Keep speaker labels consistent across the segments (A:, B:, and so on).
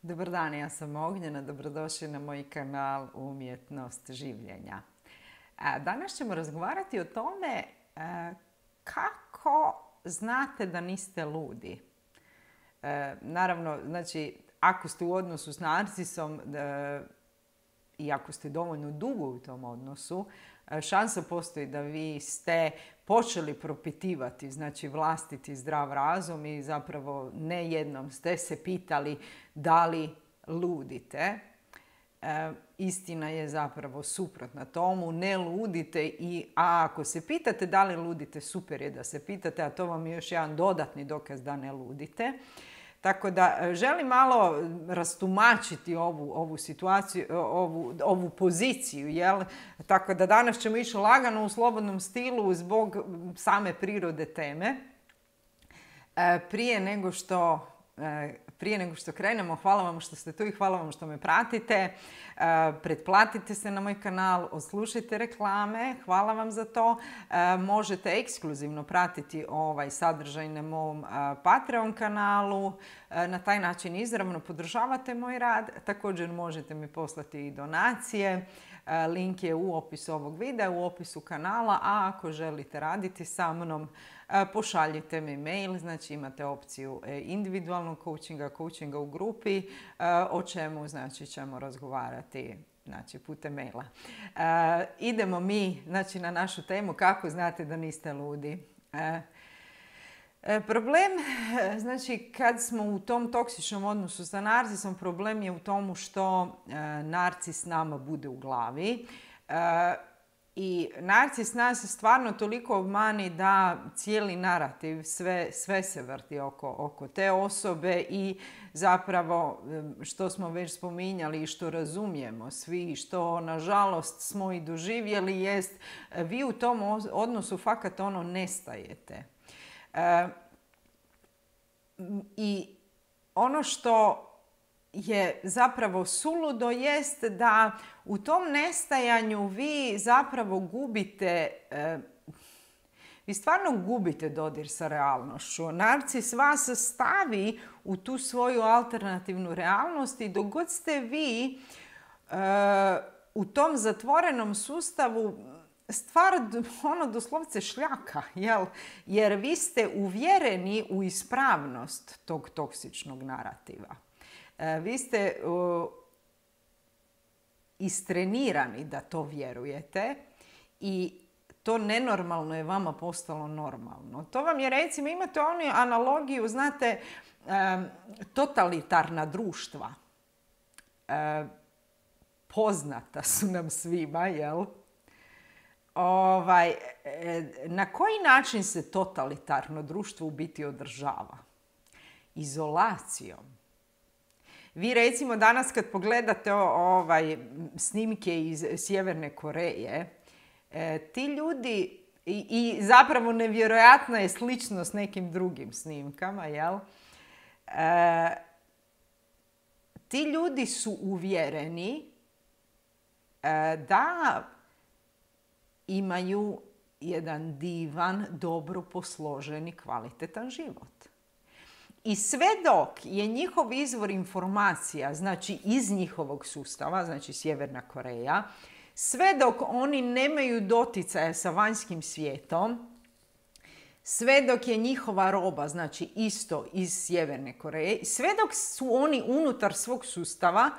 A: Dobar dan, ja sam Ognjena, dobrodošli na moj kanal Umjetnost življenja. Danas ćemo razgovarati o tome kako znate da niste ludi. Naravno, znači, ako ste u odnosu s narcisom i ako ste dovoljno dugo u tom odnosu, šansa postoji da vi ste počeli propitivati, znači vlastiti zdrav razum i zapravo ne jednom ste se pitali da li ludite. Istina je zapravo suprotna tomu, ne ludite a ako se pitate da li ludite, super je da se pitate, a to vam je još jedan dodatni dokaz da ne ludite. Tako da želim malo rastumačiti ovu situaciju, ovu poziciju, jel? Tako da danas ćemo ići lagano u slobodnom stilu zbog same prirode teme. Prije nego što krenemo, hvala vam što ste tu i hvala vam što me pratite. Pretplatite se na moj kanal, odslušajte reklame, hvala vam za to. Možete ekskluzivno pratiti ovaj sadržaj na mom Patreon kanalu. Na taj način izravno podržavate moj rad. Također možete mi poslati i donacije. Link je u opisu ovog videa, u opisu kanala, a ako želite raditi sa mnom, pošaljite mi mail, znači imate opciju individualnog coachinga u grupi, o čemu znači ćemo razgovarati putem maila. Idemo mi na našu temu kako znate da niste ludi. Problem, znači kad smo u tom toksičnom odnosu sa narcisom, problem je u tomu što narcis nama bude u glavi. I narcis nas stvarno toliko obmani da cijeli narativ, sve se vrti oko te osobe i zapravo što smo već spominjali i što razumijemo svi, što nažalost smo i doživjeli jest vi u tom odnosu fakat nestajete. I ono što je zapravo suludo jest da u tom nestajanju vi zapravo vi stvarno gubite dodir sa realnošću. Narcis vas stavi u tu svoju alternativnu realnost i dok god ste vi u tom zatvorenom sustavu, stvar doslovce šljaka, jel? Jer vi ste uvjereni u ispravnost tog toksičnog narativa. Vi ste istrenirani da to vjerujete i to nenormalno je vama postalo normalno. To vam je, recimo, imate onu analogiju, znate, totalitarna društva. Poznata su nam svima, jel? Na koji način se totalitarno društvo u biti održava? Izolacijom. Vi recimo danas kad pogledate snimke iz Sjeverne Koreje, ti ljudi, i zapravo nevjerojatna je sličnost s nekim drugim snimkama, jel? Ti ljudi su uvjereni da imaju jedan divan, dobro posloženi, kvalitetan život. I sve dok je njihov izvor informacija, znači iz njihovog sustava, znači Sjeverna Koreja, sve dok oni nemaju doticaja sa vanjskim svijetom, sve dok je njihova roba, znači isto iz Sjeverne Koreje, sve dok su oni unutar svog sustava,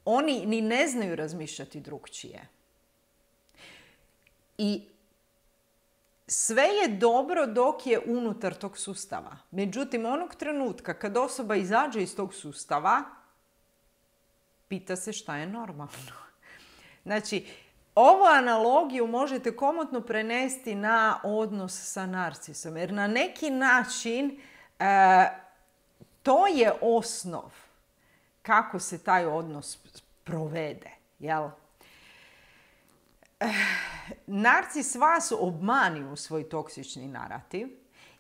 A: oni ni ne znaju razmišljati drukčije. I sve je dobro dok je unutar tog sustava. Međutim, onog trenutka kad osoba izađe iz tog sustava, pita se šta je normalno. Znači, ovu analogiju možete komotno prenesti na odnos sa narcisom. Jer na neki način to je osnov kako se taj odnos provede. Jel? Narcis vas obmani u svoj toksični narativ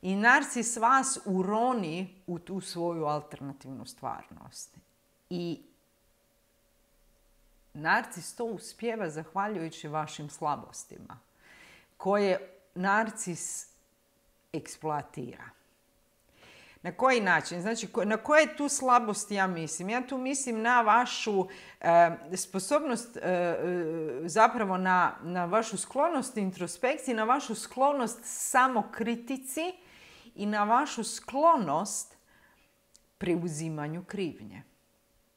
A: i narcis vas uroni u tu svoju alternativnu stvarnost. I narcis to uspijeva zahvaljujući vašim slabostima, koje narcis eksploatira. Na koji način? Znači, na koje tu slabosti ja mislim? Ja tu mislim na vašu sposobnost, zapravo na vašu sklonost introspekciji, na vašu sklonost samokritici i na vašu sklonost preuzimanju krivnje.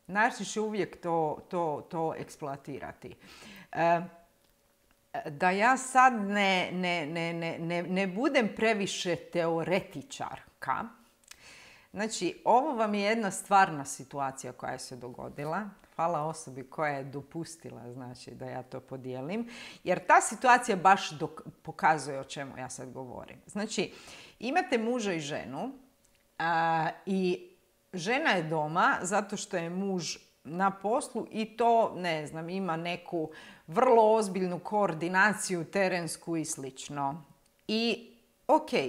A: Narcis će uvijek to eksploatirati. Da ja sad ne budem previše teoretičarka, znači ovo vam je jedna stvarna situacija koja se dogodila. Hvala osobi koja je dopustila, znači, da ja to podijelim, jer ta situacija baš pokazuje o čemu ja sad govorim. Znači, imate muža i ženu i žena je doma zato što je muž na poslu i to, ne znam, ima neku vrlo ozbiljnu koordinaciju terensku i slično. I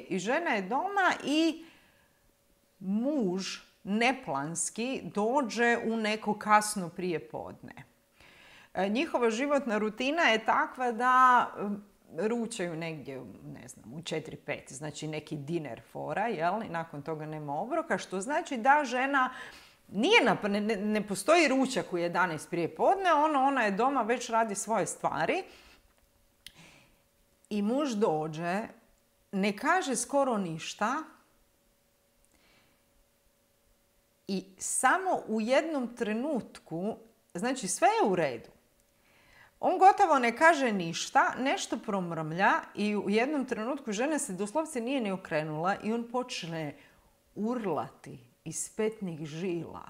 A: i žena je doma i muž neplanski dođe u neko kasno prijepodne. Njihova životna rutina je takva da ručaju negdje, ne znam, u 4-5, znači neki dinner fora, jel? I nakon toga nema obroka, što znači da žena ne postoji ručak u 11 prije podne, ona je doma, već radi svoje stvari. I muž dođe, ne kaže skoro ništa i samo u jednom trenutku, znači sve je u redu. On gotovo ne kaže ništa, nešto promrmlja i u jednom trenutku žena se doslovce nije ni okrenula i on počne urlati iz petnih žila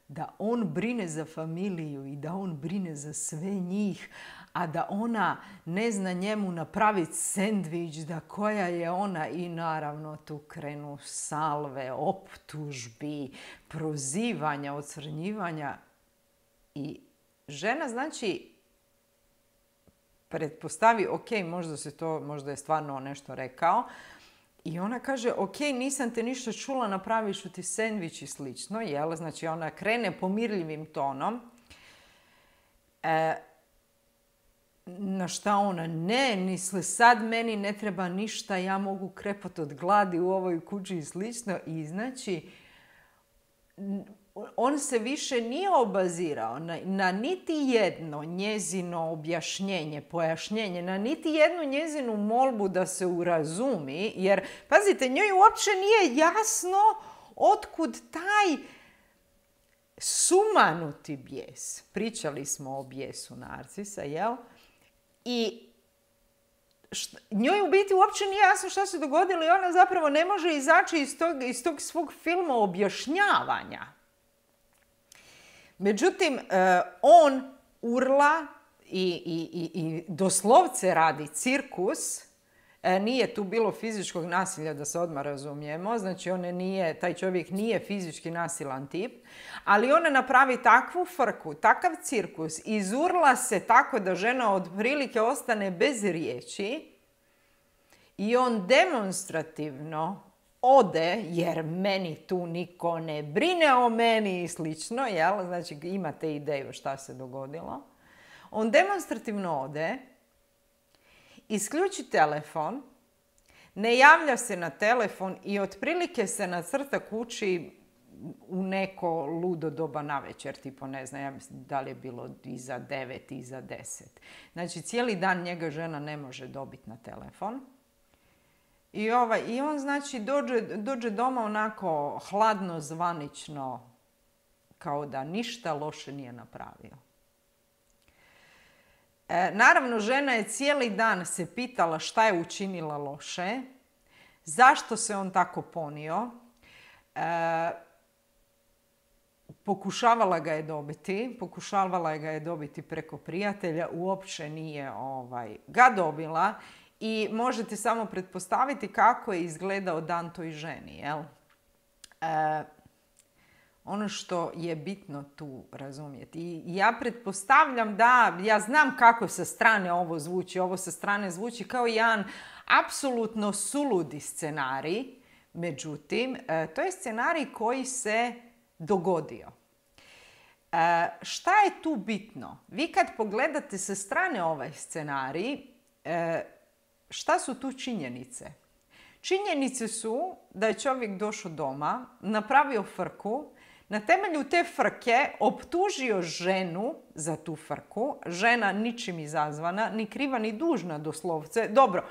A: da on brine za familiju i da on brine za sve njih, a da ona ne zna njemu napraviti sendvič, da koja je ona, i naravno tu krenu salve, optužbi, prozivanja, ocrnjivanja. I žena, znači, pretpostavi, možda je stvarno nešto rekao, i ona kaže, nisam te ništa čula, napraviš ti sendvič i slično, jel? Znači, ona krene pomirljivim tonom. Na šta ona, misle, sad meni ne treba ništa, ja mogu krepat od gladi u ovoj kući i slično. I znači, on se više nije obazirao na niti jedno njezino objašnjenje, pojašnjenje, na niti jednu njezinu molbu da se urazumi, jer, pazite, njoj uopće nije jasno otkud taj sumanuti bijes. Pričali smo o bijesu Narcisa, jel? I njoj u biti uopće nije jasno što se dogodilo i ona zapravo ne može izaći iz tog svog filma objašnjavanja. Međutim, on urla i doslovce radi cirkus. Nije tu bilo fizičkog nasilja, da se odmah razumijemo. Znači, taj čovjek nije fizički nasilan tip. Ali ona napravi takvu frku, takav cirkus, izurla se tako da žena otprilike ostane bez riječi. I on demonstrativno ode, jer meni tu niko ne brine o meni i slično, jel? Znači, imate ideju šta se dogodilo. On demonstrativno ode, isključi telefon, ne javlja se na telefon i otprilike se nacrta kući u neko ludo doba navečer, tipo, ne znam, ja mislim da li je bilo iza 9, iza 10. Znači, cijeli dan njega žena ne može dobiti na telefon. I on, znači, dođe doma onako hladno, zvanično, kao da ništa loše nije napravio. Naravno, žena je cijeli dan se pitala šta je učinila loše, zašto se on tako ponio. Pokušavala ga je dobiti preko prijatelja, uopće nije ga dobila. I možete samo pretpostaviti kako je izgledao dan toj ženi, jel? Ono što je bitno tu razumjeti. I ja pretpostavljam ja znam kako sa strane ovo zvuči. Ovo sa strane zvuči kao jedan apsolutno suludi scenarij. Međutim, to je scenarij koji se dogodio. Šta je tu bitno? Vi kad pogledate sa strane ovaj scenarij, šta su tu činjenice? Činjenice su da je čovjek došao doma, napravio frku, na temelju te frke optužio ženu za tu frku. Žena ničim izazvana, ni kriva ni dužna doslovce. Dobro,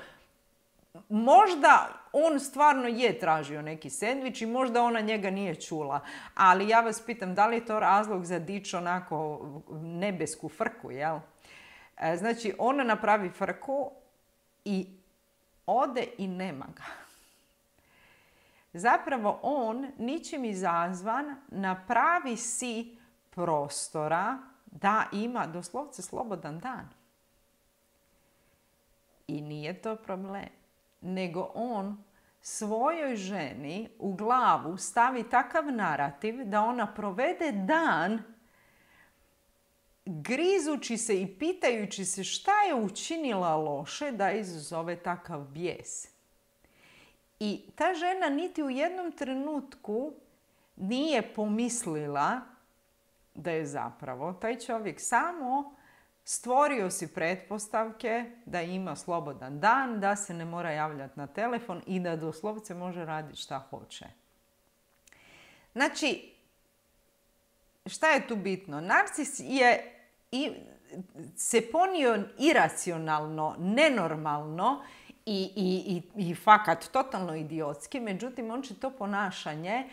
A: možda on stvarno je tražio neki sendvič i možda ona njega nije čula. Ali ja vas pitam, da li je to razlog za dići onako nebesku frku, jel? Znači, ona napravi frku i ode i nema ga. Zapravo on, ničim izazvan, napravi si prostora da ima doslovce slobodan dan. I nije to problem. Nego on svojoj ženi u glavu stavi takav narativ da ona provede dan grizući se i pitajući se šta je učinila loše da izazove takav bijes. I ta žena niti u jednom trenutku nije pomislila da je zapravo taj čovjek samo stvorio si pretpostavke da ima slobodan dan, da se ne mora javljati na telefon i da doslovce može raditi šta hoće. Znači, šta je tu bitno? Narcis je se ponio iracionalno, nenormalno i fakat totalno idiotski, međutim on će to ponašanje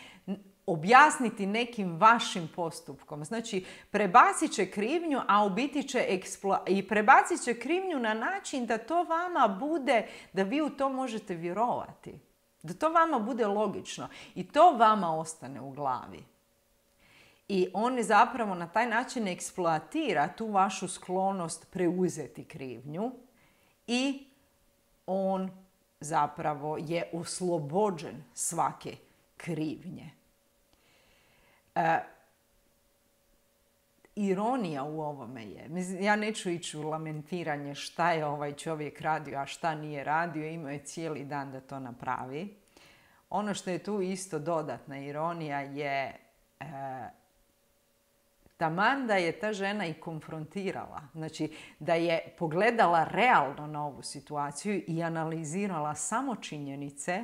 A: objasniti nekim vašim postupkom. Znači, prebacit će krivnju, a u biti će i prebacit će krivnju na način da to vama bude, da vi u to možete vjerovati. Da to vama bude logično i to vama ostane u glavi. I on zapravo na taj način eksploatira tu vašu sklonost preuzeti krivnju i on zapravo je oslobođen svake krivnje. Ironija u ovome je, ja neću ići u lamentiranje šta je ovaj čovjek radio, a šta nije radio, imao je cijeli dan da to napravi. Ono što je tu isto dodatna ironija je taman da je ta žena i konfrontirala, znači da je pogledala realno na ovu situaciju i analizirala samo činjenice,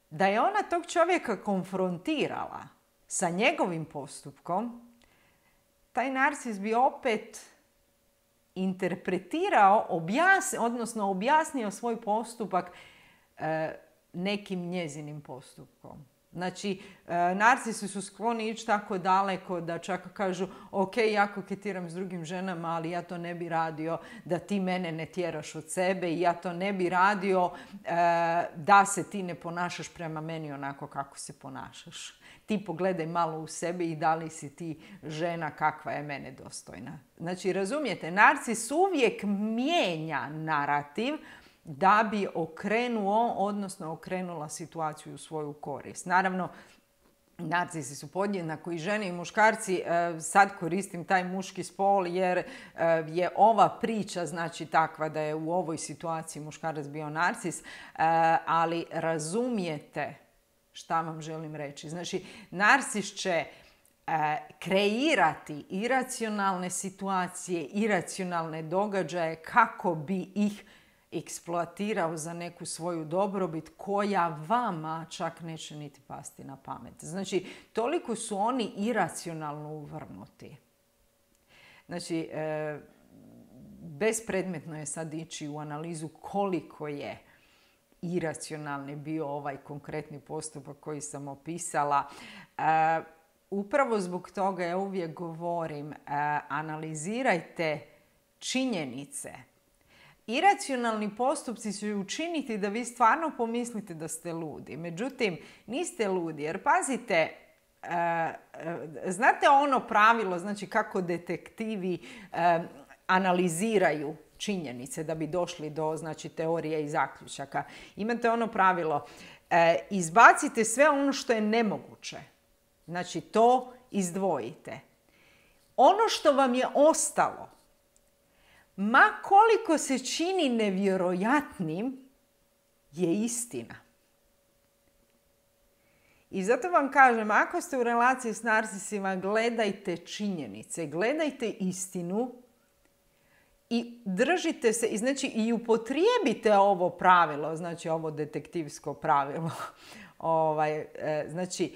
A: da je ona tog čovjeka konfrontirala sa njegovim postupkom, taj narcis bi opet interpretirao, odnosno objasnio svoj postupak nekim njezinim postupkom. Znači, narcisi su skloni ići tako daleko da čak kažu ok, ja koketiram s drugim ženama, ali ja to ne bi radio da ti mene ne tjeraš od sebe i ja to ne bi radio da se ti ne ponašaš prema meni onako kako se ponašaš. Ti pogledaj malo u sebe i da li si ti žena kakva je mene dostojna. Znači, razumijete, narcis uvijek mijenja narativ da bi okrenuo, odnosno okrenula situaciju u svoju korist. Naravno, narcisi su podjednako i žene i muškarci. Sad koristim taj muški spol jer je ova priča znači takva da je u ovoj situaciji muškarac bio narcis, ali razumijete šta vam želim reći. Znači, narcis će kreirati iracionalne situacije, iracionalne događaje kako bi ih eksploatirao za neku svoju dobrobit koja vama čak neće niti pasti na pamet. Znači, toliko su oni iracionalno uvrnuti. Znači, bespredmetno je sad ići u analizu koliko je iracionalni bio ovaj konkretni postupak koji sam opisala. Upravo zbog toga ja uvijek govorim, analizirajte činjenice. Iracionalni postupci će učiniti da vi stvarno pomislite da ste ludi. Međutim, niste ludi jer pazite, znate ono pravilo, znači kako detektivi analiziraju činjenice da bi došli do znači, teorije i zaključaka. Imate ono pravilo, izbacite sve ono što je nemoguće. Znači to izdvojite. Ono što vam je ostalo, ma koliko se čini nevjerojatnim, je istina. I zato vam kažem, ako ste u relaciji s narcisima, gledajte činjenice, gledajte istinu I držite se, znači i upotrijebite ovo pravilo, znači ovo detektivsko pravilo. Znači,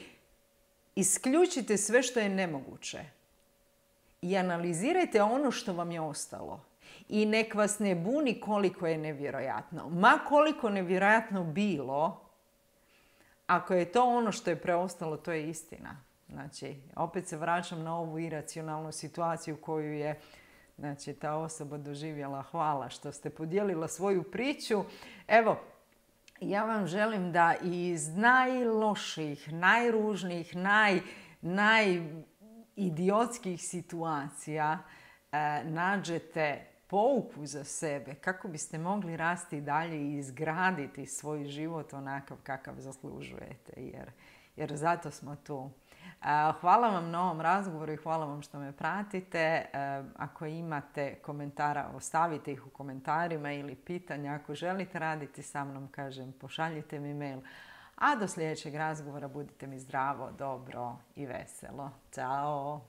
A: isključite sve što je nemoguće. I analizirajte ono što vam je ostalo. I nek vas ne buni koliko je nevjerojatno. Ma koliko nevjerojatno bilo, ako je to ono što je preostalo, to je istina. Znači, opet se vraćam na ovu iracionalnu situaciju koju je, znači, ta osoba doživjela. Hvala što ste podijelila svoju priču. Evo, ja vam želim da iz najloših, najružnijih, najidiotskih situacija nađete pouku za sebe kako biste mogli rasti dalje i izgraditi svoj život onakav kakav zaslužujete, jer zato smo tu. Hvala vam na ovom razgovoru i hvala vam što me pratite. Ako imate komentara, ostavite ih u komentarima ili pitanja. Ako želite raditi sa mnom, kažem, pošaljite mi mail. A do sljedećeg razgovora budite mi zdravo, dobro i veselo. Ćao!